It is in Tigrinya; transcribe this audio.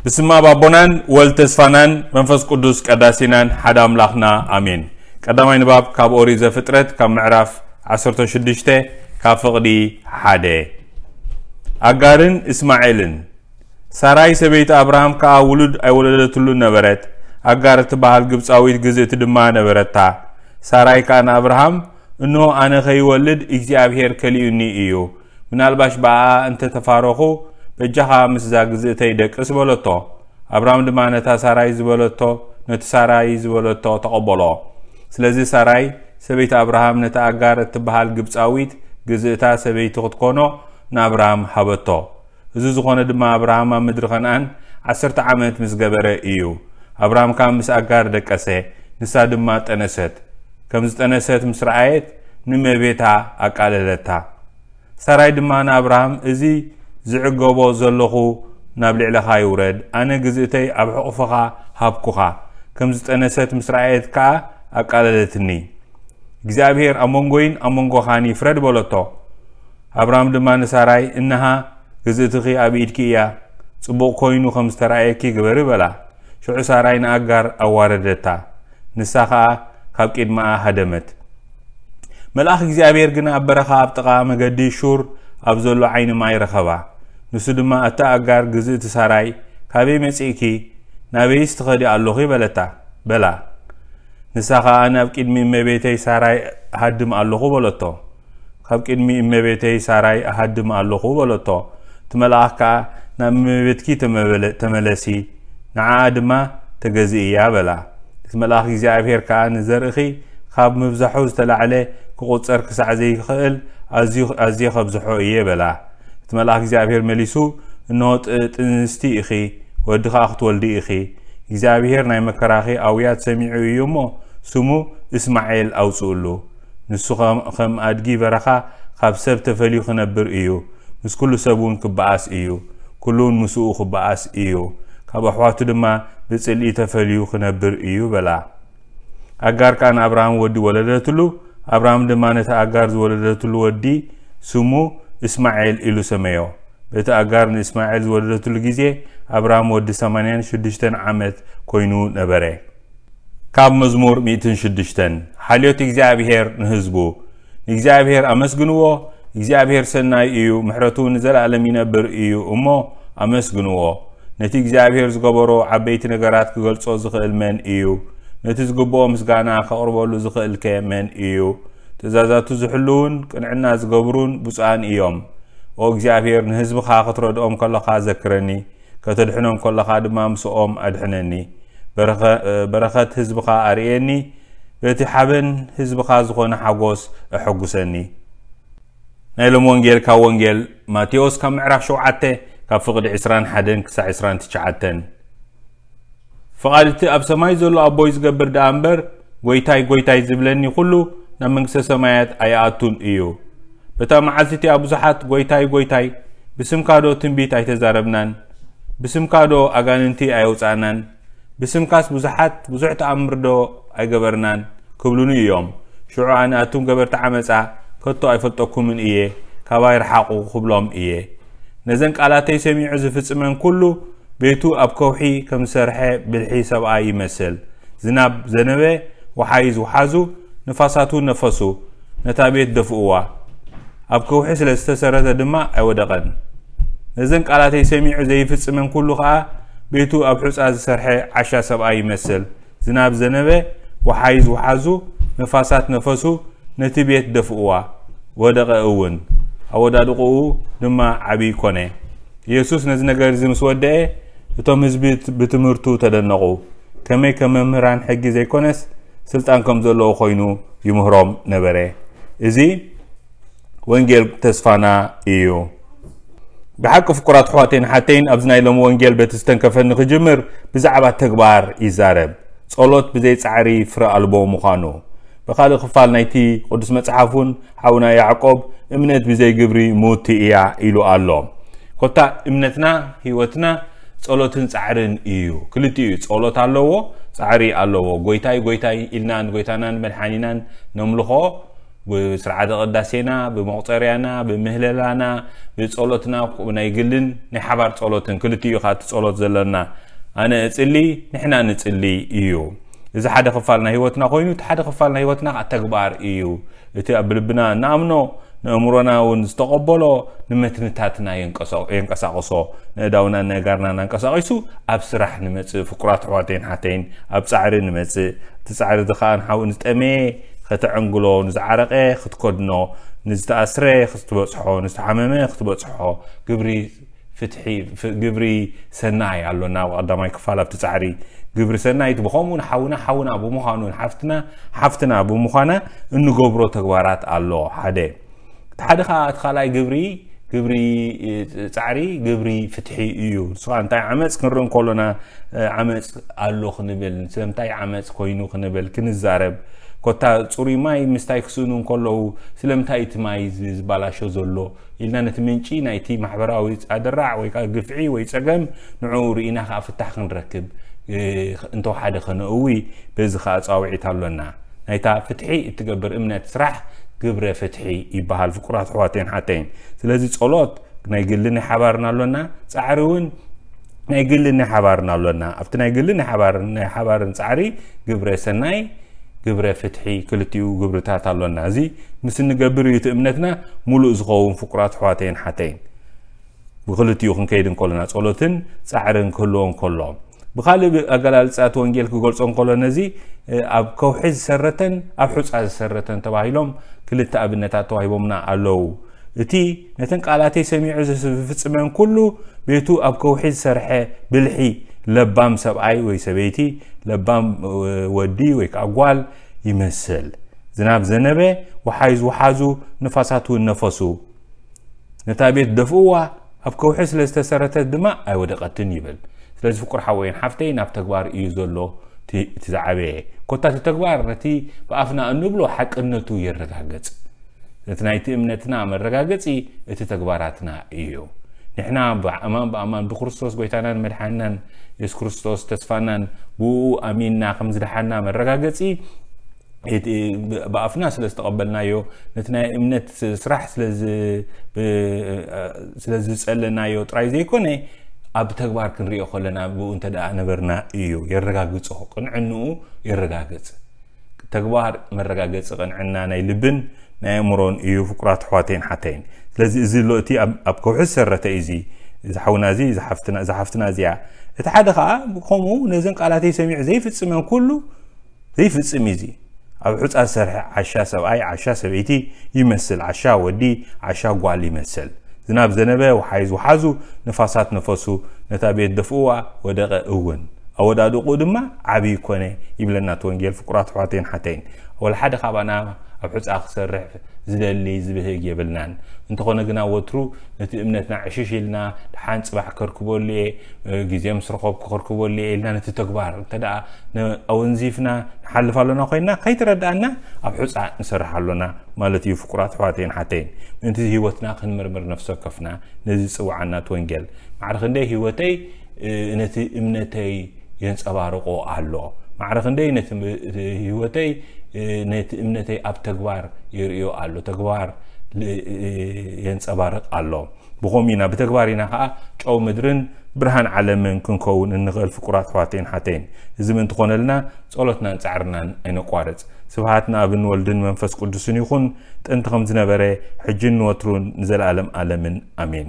ብስም ኣብ ኣቦናን ወልድ ተስፋናን መንፈስ ቅዱስ ቀዳሲናን ሓደ ኣምላኽና ኣሜን። ቀዳማይ ንባብ ካብ ኦሪት ዘፍጥረት ካብ ምዕራፍ ዓሰርተ ሽዱሽተ ካብ ፍቕዲ ሓደ። ኣጋርን እስማኤልን። ሳራይ ሰበይቲ ኣብርሃም ከኣ ውሉድ ኣይወለደትሉን ነበረት። ኣጋር እትበሃል ግብጻዊት ግዝእቲ ድማ ነበረታ። ሳራይ ከኣ ንኣብርሃም፣ "እንሆ ኣነ ከይወልድ እግዚኣብሄር ከሊኡኒ እዩ። ምናልባሽ ብኣኣ እንተ ተፋረኹ፣ በጃኻ ምስዛ ግዝእተይ ደቅስ" በለቶ። ኣብርሃም ድማ ነታ ሳራይ ዝበለቶ፣ ነቲ ሳራይ ዝበለቶ ተቐበሎ። ስለዚ ሳራይ ሰበይቲ ኣብርሃም ነታ ኣጋር እትበሃል ግብጻዊት ግዝእታ ሰበይቲ ክትኮኖ ንኣብርሃም ሃበቶ። እዚ ዝኾነ ድማ ኣብርሃም ኣብ ምድሪ ከነኣን ዓሰርተ ዓመት ምስ ገበረ እዩ። ኣብርሃም ከኣ ምስ ኣጋር ደቀሰ፣ ንሳ ድማ ጠነሰት። ከም ዝጠነሰት ምስ ረኣየት ንእመቤታ ኣቃለለታ። ሳራይ ድማ ንኣብርሃም፣ "እዚ ዝዕገቦ ዘለኹ ናብ ልዕለኻ ይውረድ፣ ኣነ ግዝእተይ ኣብ ሕቑፍኻ ሃብኩኻ።" ከም ዝጠነሰት ምስ ረኣየት ከኣ ኣቃለለትኒ። "እግዚኣብሄር ኣብ መንጎይን ኣብ መንጎኻን ይፍረድ" በለቶ። ኣብርሃም ድማ ንሳራይ፣ "እንሃ ግዝእትኺ ኣብ ኢድኪ እያ፣ ጽቡቕ ኮይኑ ከም ዝተራእየኪ ግበሪ" በላ። ሽዑ ሳራይ ንኣጋር ኣዋረደታ፣ ንሳ ኸኣ ካብ ቅድመኣ ሃደመት። መልኣኽ እግዚኣብሔር ግን ኣብ በረኻ ኣብ ጥቓ መገዲ ሹር ኣብ ዘሎ ዓይኒ ማይ ረኸባ። ንሱ ድማ፣ "ኣታ ኣጋር ግዝእቲ ሳራይ፣ ካበይ መጺእኪ? ናበይስ ትኸዲ ኣሎኺ?" በለታ፣ በላ። ንሳ ኸኣ፣ "ናብ ቅድሚ እመቤተይ ሳራይ እሃድም ኣሎኹ" በለቶ። "ካብ ቅድሚ እመቤተይ ሳራይ እሃድም ኣሎኹ" በለቶ። እቲ መልኣኽ ከኣ፣ "ናብ እመቤትኪ ተመበለ-፣ ተመለሲ፣ ንዓኣ ድማ ተገዝእያ" በላ። እቲ መልኣኽ እግዚኣብሔር ከኣ፣ "ንዘርእኺ ካብ ምብዛሑ ዝተላዕለ ክቑጸር ክሳዕ ዘይክእል ኣዝዩ፣ ኣዝየ ከብዝሖ እየ" በላ። እቲ መልኣኽ እግዚኣብሔር መሊሱ፣ "እንሆ ጥ-፣ ጥንስቲ ኢኺ፣ ወዲ ኸኣ ክትወልዲ ኢኺ። እግዚኣብሔር ናይ መከራኺ ኣውያት ሰሚዑ እዩ እሞ፣ ስሙ እስማኤል ኣውጽእሉ። ንሱ ኸም፣ ከም ኣድጊ በረኻ ካብ ሰብ ተፈልዩ ክነብር እዩ። ምስ ኩሉ ሰብ እውን ክበኣስ እዩ። ኩሉ እውን ምስኡ ክበኣስ እዩ። ካብ ኣሕዋቱ ድማ ብጽልኢ ተፈልዩ ክነብር እዩ" በላ። ኣጋር ከኣ ንኣብርሃም ወዲ ወለደትሉ። ኣብርሃም ድማ ነቲ ኣጋር ዝወለደትሉ ወዲ ስሙ እስማኤል ኢሉ ሰመዮ። በቲ ኣጋር ንእስማኤል ዝወለደትሉ ግዜ ኣብርሃም ወዲ ሰማንያን ሽዱሽተን ዓመት ኮይኑ ነበረ። ካብ መዝሙር ሚእትን ሽዱሽተን። ሓልዮት እግዚኣብሔር ንህዝቡ። ንእግዚኣብሔር ኣመስግንዎ፣ እግዚኣብሔር ሰናይ እዩ፣ ምሕረቱ ንዘለኣለም ይነብር እዩ እሞ ኣመስግንዎ። ነቲ እግዚኣብሔር ዝገበሮ ዓበይቲ ነገራት ክገልጾ ዝኽእል መን እዩ? ነቲ ዝግብኦ ምስጋና ከቕርበሉ ዝኽእልከ መን እዩ? ትእዛዛቱ ዝሕልዉን ቅንዕና ዝገብሩን ብፁዓን እዮም። ኦ እግዚኣብሔር፣ ንህዝብኻ ክትረድኦም ከለኻ ዘክረኒ፣ ከተድሕኖም ከለኻ ድማ ምስኦም ኣድሕነኒ። በረኸ-፣ በረኸት ህዝብኻ ኣርእየኒ፣ በቲ ሓበን ህዝብኻ ዝኾነ ሓጎስ ኣሐጉሰኒ። ናይ ሎሚ ወንጌል ካብ ወንጌል ማቴዎስ ካብ ምዕራፍ ሸውዓተ ካብ ፍቕዲ ዕስራን ሓደን ክሳዕ ዕስራን ትሽዓተን። ፍቓድ እቲ ኣብ ሰማይ ዘሎ ኣቦይ ዝገብር ደኣ እምበር፣ "ጐይታይ፣ ጐይታይ" ዝብለኒ ኹሉ ናብ መንግስተ ሰማያት ኣይኣቱን እዩ። በታ መዓልቲ እቲኣ ብዙሓት "ጐይታይ፣ ጐይታይ፣ ብስምካ ዶ ትንቢት ኣይተዛረብናን? ብስምካ ዶ ኣጋንንቲ ኣየውጻእናን? ብስምካስ ብዙሓት፣ ብዙሕ ተኣምር ዶ ኣይገበርናን?" ክብሉኒ እዮም። ሽዑ ኣነ፣ "ኣቱም ገበርቲ ዓመጻ፣ ከቶ ኣይፈልጠኩምን እየ፣ ካባይ ርሓቑ" ክብሎም እየ። ነዘን ቃላተይ ሰሚዑ ዝፍጽመን ኩሉ፣ ቤቱ ኣብ ከውሒ ከም ዝሰርሐ ብልሒ ሰብኣይ ይመስል። ዝናብ ዘነበ፣ ወሓይዝ ወሓዙ፣ ንፋሳት እውን ነፈሱ፣ ነታ ቤት ደፍእዋ። ኣብ ከውሒ ስለ ዝተሰረተ ድማ ኣይወደቐን። ነዘን ቃላተይ ሰሚዑ ዘይፍጽመን ኩሉ ኸኣ፣ ቤቱ ኣብ ሑጻ ዝሰርሐ ዓሻ ሰብኣይ ይመስል። ዝናብ ዘነበ፣ ወሓይዝ ወሓዙ፣ ነፋሳት ነፈሱ፣ ነቲ ቤት ደፍእዋ፣ ወደቐ እውን። ኣወዳድቕኡ ድማ ዓቢ ኮነ። ኢየሱስ ነዚ ነገር እዚ ምስ ወደአ፣ እቶም ህዝቢ ብትምህርቱ ተደነቑ። ከመይ ከም መምህራን ሕጊ ዘይኮነስ፣ ስልጣን ከም ዘለዎ ኮይኑ ይምህሮም ነበረ። እዚ ወንጌል ተስፋና እዩ። ብሓቂ ፍቁራት ኣሕዋተይን ሓተይን፣ ኣብዚ ናይ ሎሚ ወንጌል በቲ ዝተንከፈኒ ክጅምር፣ ብዛዕባ ተግባር ይዛረብ። ጸሎት ብዘይ ጻዕሪ ፍረ ኣልቦ ምዃኑ። ብኻልእ ክፋል ናይቲ ቅዱስ መጽሓፍ እውን ሓውና ያዕቆብ፣ "እምነት ብዘይ ግብሪ ምውቲ እያ" ኢሉ ኣሎ። ኮታ እምነትና፣ ህይወትና ጸሎትን ጻዕርን እዩ። ክልቲኡ እዩ። ጸሎት ኣለዎ፣ ጻዕሪ ኣለዎ። "ጐይታይ፣ ጐይታይ" ኢልና ንጐይታናን መድሓኒናን ነምልኾ፣ ብስርዓተ ቅዳሴና፣ ብመቑፀርያና፣ ብምህለላና፣ ብፀሎትና፣ ናይ ግልን ናይ ሓባር ፀሎትን ክልቲኡ ኢኻ እቲ ፀሎት ዘለና። ኣነ እጽሊ፣ ንሕና ንጽሊ እዩ። እዚ ሓደ ክፋል ናይ ህይወትና ኮይኑ፣ እቲ ሓደ ክፋል ናይ ህይወትና ከዓ ተግባር እዩ። እቲ ኣብ ልብና እንኣምኖ፣ ንእምሮና እውን ዝተቐበሎ፣ ንመትንታትና የንቀሳቕሶ። ንእዳውና ንእጋርና እናንቀሳቒሱ ኣብ ስራሕ ንመጽእ። ፍቁራት ኣሕዋተይን ሓተይን፣ ኣብ ጻዕሪ ንመጽእ። እቲ ጻዕሪ እዚ ከዓ ንሓው ንዝጠመየ ከተዕንግሎ፣ ንዝዓረቐ ክትከድኖ፣ ንዝተኣስረ ክትበጽሖ፣ ንዝተሓመመ ክትበጽሖ፣ ግብሪ ፍትሒ፣ ፍ-፣ ግብሪ ሰናይ ኣሎና። ኣብ ቀዳማይ ክፋል ኣብቲ ጻዕሪ ግብሪ ሰናይ፣ እቲ ብኸምኡ ንሓውና ሓውና ብምዃኑ፣ ንሓፍትና ሓፍትና ብምዃና እንገብሮ ተግባራት ኣሎ። ሓደ። እቲ ሓደ ኸኣ፣ እቲ ካልኣይ ግብሪ፣ ግብሪ፣ እ፣ ጻዕሪ፣ ግብሪ ፍትሒ እዩ። ንሱ ኸኣ እንታይ ዓመጽ ክንርኢ እንከሎና፣ እ፣ ዓመጽ ኣሎ ክንብል፣ ስለምንታይ ዓመጽ ኮይኑ ክንብል፣ ክንዛረብ፣ ኮታ ጽሩይ ማይ ምስታይ ክስእኑ እንከለዉ፣ ስለምንታይ እቲ ማይ ዝ-፣ ዝባላሾ ዘሎ ኢልና ነቲ ምንጪ ናይቲ ማሕበራዊ ኣደራዕ ወይ ከኣ ግፍዒ ወይ ጸገም ንዕኡ ርኢና ከኣ ፍታሕ ክንረክብ፣ እ፣ እንተወሓደ ከነእዊ በዚ ከኣ ጻውዒት ኣሎና። ናይታ ፍትሒ እትገብር እምነት ስራሕ ግብረ ፍትሒ ይበሃል፣ ፍቁራት ኣሕዋተይን ሓተይን። ስለዚ ጸሎት ናይ ግሊ ናይ ሓባርን ኣሎና፣ ጻዕሪ እውን ናይ ግሊ ናይ ሓባርን ኣሎና። ኣብቲ ናይ ግሊ ናይ ሓባርን፣ ናይ ሓባርን ጻዕሪ ግብረ ሰናይ፣ ግብረ ፍትሒ፣ ክልቲኡ ግብርታት ኣሎና። እዚ ምስ እንገብር እዩ እቲ እምነትና ሙሉእ ዝኸውን፣ ፍቁራት ኣሕዋተይን ሓተይን። ብክልቲኡ ክንከይድ እንከሎና፣ ጸሎትን ጻዕርን ክህልዎ እንከሎ። ብኻልእ ኣገላልጻ እቲ ወንጌል ክገልጾ እንከሎ፣ ነዚ፣ እ፣ ኣብ ከውሒ ዝሰረተን ኣብ ሑጻ ዝሰረተን ተባሂሎም ክልተ ኣብነታት ተዋሂቦምና ኣለዉ። እቲ ነተን ቃላተይ ሰሚዑ ዝስ-፣ ዝፍጽመን ኩሉ፣ ቤቱ ኣብ ከውሒ ዝሰርሐ ብልሒ ለባም ሰብኣይ ወይ ሰበይቲ፣ ለባም፣ እ፣ ወዲ ወይ ከኣ ጓል ይመስል። ዝናብ ዘነበ፣ ወሓይዝ ወሓዙ፣ ንፋሳት እውን ነፈሱ። ነታ ቤት ደፍእዋ፣ ኣብ ከውሒ ስለ ዝተሰረተት ድማ ኣይወደቐትን ይብል። ስለዚ ፍቁር ሓወይን ሓፍተይ፣ ናብ ተግባር እዩ ዘሎ እቲ፣ እቲ ዝዓበየ። ኮታ እቲ ተግባር ነቲ ብኣፍና እንብሎ ሓቅነቱ የረጋግጽ። ነቲ ናይቲ እምነትና መረጋገጺ እቲ ተግባራትና እዩ። ንሕና ብኣማን ብኣማን ብክርስቶስ ጎይታናን መድሓንናን የሱስ ክርስቶስ ተስፋናን ብኡ ኣሚንና ከም ዝደሓና መረጋገጺ እቲ ብ-፣ ብኣፍና ስለ ዝተቐበልናዮ፣ ነቲ ናይ እምነት ስራሕ ስለ ዝ-፣ ብ-፣ ስለ ዝጸለናዮ ጥራይ ዘይኮነ፣ ኣብ ተግባር ክንሪኦ ከለና ብኡ እንተ ደኣ ነበርና እዩ የረጋግጾ፣ ቅንዕንኡ የረጋግጽ። ተግባር መረጋገጺ ቅንዕና ናይ ልብን ናይ ኣእምሮን እዩ፣ ፍቁራት ኣሕዋተይን ሓተይን። ስለዚ እዚ ኣሎ እቲ ኣብ፣ ኣብ ከውሒ ዝሰረተ እዩ፣ እዚ፣ እዚ ሓውና እዚ፣ እዚ ሓፍትና፣ እዚ ሓፍትና እዚኣ። እቲ ሓደ ኸኣ ከምኡ ነዘን ቃላተይ ሰሚዑ ዘይፍጽመን ኩሉ ዘይፍጽም እዩ። እዚ ኣብ ሑጻ ዝሰርሐ ዓሻ ሰብኣይ፣ ዓሻ ሰበይቲ ይመስል፣ ዓሻ ወዲ፣ ዓሻ ጓል ይመስል። ዝናብ ዘነበ፣ ወሓይዝ ወሓዙ፣ ንፋሳት ነፈሱ፣ ነታ ቤት ደፍእዋ፣ ወደቐ እውን። ኣወዳድቑ ድማ ዓብዪ ኮነ ይብለና እቲ ወንጌል፣ ፍቁራት ኣሕዋተይን ሓተይን። ወላ ሓደ ካባና ኣብ ሑጻ ክሰርሕ ዝደሊ ዝብህግ የብልናን። እንተኾነ ግና ወትሩ ነቲ እምነትና ዕሽሽ ኢልና፣ ደሓን ጽባሕ ከርክበሉ እየ፣ ግዜ ምስ ረኸብኩ ከርክበሉ እየ ኢልና ነቲ ተግባር እንተ ደኣ ነ-፣ ኣወንዚፍና ንሓልፍ ኣሎና ኮይንና፣ ከይተረድኣና ኣብ ሑጻ ንሰርሕ ኣሎና ማለት እዩ። ፍቁራት ኣሕዋተይን ሓተይን፣ ምእንቲ ህይወትና ክንምርምር ነፍሲ ወከፍና ነዚ ዝጽውዓና እቲ ወንጌል። ማዕረ ክንደይ ህይወተይ፣ እ፣ ነቲ እምነተይ የንጸባርቆ ኣሎ። ማዕረ ክንደይ ነቲ ም-፣ ህይወተይ፣ እ፣ ነቲ እምነተይ ኣብ ተግባር የርእዮ ኣሎ። ተግባር ል-፣ እ፣ የንጸባርቕ ኣሎ። ብኸምኡ ኢና፣ ብተግባር ኢና ኸኣ ጨው ምድርን ብርሃን ዓለምን ክንከውን እንኽእል፣ ፍቁራት ኣሕዋተይን ሓተይን። እዚ ምእንቲ ኮነልና፣ ጸሎትናን ጻዕርናን ኣይነቋርጽ። ስብሃት ንኣብን ወልድን መንፈስ ቅዱስን ይኹን፣ ጥንቲ ከም ዝነበረ፣ ሕጅን ንወትሩን ንዘለኣለም ኣለምን። ኣሜን።